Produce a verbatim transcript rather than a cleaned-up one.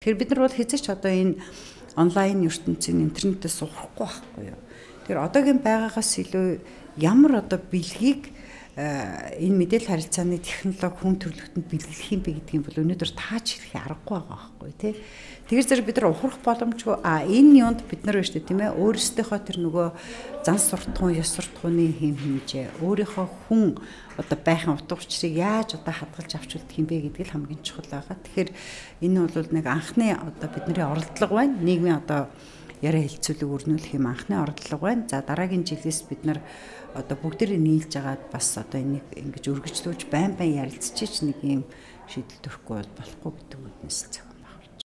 Тэгэхээр бид нар бол хэзээ ч одоо энэ онлайн ертөнцийн интернетээс сурахгүй байхгүй юу. Тэгэхээр одоогийн байгаагаас илүү ямар одоо бэлгийг энэ мэдээлэл харилцааны технологи хүн төрөлхтөнд бэлгэлэх юм бэ гэдгийг бол өнөөдөр тааж хэлэх аргагүй байгаа байхгүй тий. Тэгэхээр зэрэг бид нар ухрах боломжгүй а энэ юунд бид нар биш тийм ээ өөрсдийнхөө тэр нөгөө зан суртахуун ёс суртахууны хэм хэмжээ өөрийнхөө хүн одоо байхын утга учирыг яаж одоо хадгалж авч үлдэх юм бэ гэдэг л хамгийн чухал байгаа. Тэгэхээр энэ бол нэг анхны одоо бидний оролдлого байна. Нийгмийн одоо яриа хэлцүүлэг өрнүүлэх юм анхны оролдлого байна. За дараагийн жилээс бид нар одоо бүгдээрээ нийлж агаад бас одоо энийг ингэж өргөжлүүлж байн байн ярилцчих нэг юм шийдэл төрөхгүй болохгүй гэдэг үгнээс.